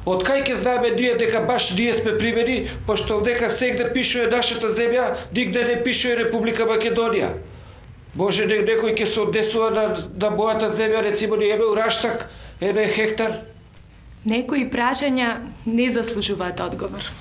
Од кај ќе знаеме ние дека баш ние сме примери, пошто овдека сегде пишува нашата земја, нигде не пишува Република Македонија. Може некој ќе се однесува на мојата земја, рецимо ние имаме Раштак, 1 хектар. Некои прашања не заслужуваат одговор.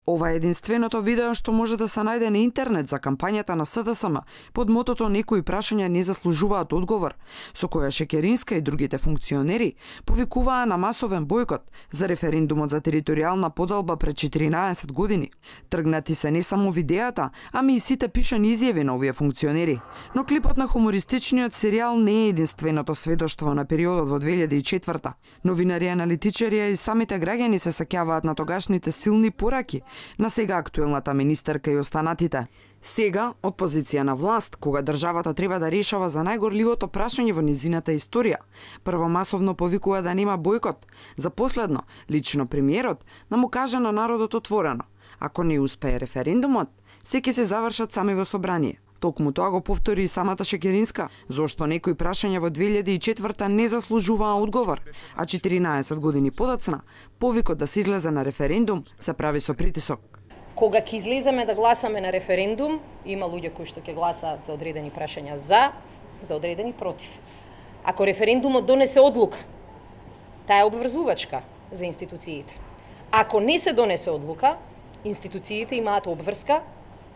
Ова е единственото видео што може да се најде на интернет за кампањата на СДСМ под мотото "Некои прашања не заслужуваат одговор", со која Шекеринска и другите функционери повикуваа на масовен бојкот за референдумот за територијална поделба пред 14 години. Тргнати се не само видеата, ами и сите пишани изјави на овие функционери. Но клипот на хумористичниот серијал не е единственото сведоштво на периодот во 2004-та. Новинари и аналитичари и самите граѓани се сеќаваат на тогашните силни пораки на сега актуелната министерка и останатите. Сега, од позиција на власт, кога државата треба да решава за најгорливото прашање во низината историја, прво масовно повикува да нема бојкот, за последно, лично премиерот, да му каже на народот отворено: ако не успее референдумот, се ќе се завршат сами во собрание. Токму тоа го повтори и самата Шекеринска, зошто некои прашања во 2004 не заслужуваа одговор, а 14 години подоцна, повикот да се излезе на референдум се прави со притисок. Кога ќе излеземе да гласаме на референдум, има луѓе кои што ќе гласаат за одредени прашања за одредени против. Ако референдумот донесе одлука, таа е обврзувачка за институциите. Ако не се донесе одлука, институциите имаат обврска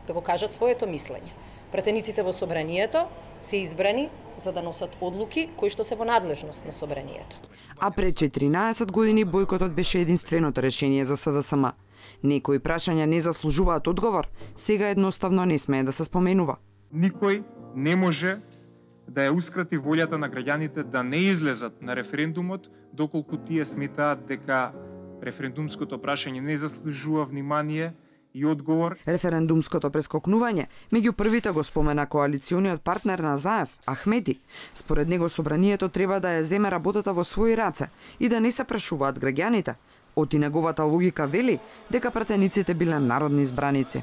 да го кажат своето мислење. Пратениците во собранието се избрани за да носат одлуки кои што се во надлежност на собранието. А пред 14 години бојкотот беше единственото решение за СДСМ. Некои прашања не заслужуваат одговор, сега едноставно не смее да се споменува. Никој не може да ја ускрати волјата на граѓаните да не излезат на референдумот доколку тие сметаат дека референдумското прашање не заслужува внимание и одговор. Референдумското прескокнување меѓу првите го спомена коалициониот партнер на Заев, Ахмеди. Според него собранието треба да ја земе работата во своји раце и да не се прашуваат граѓаните. Оти неговата логика вели дека пратениците биле народни избраници.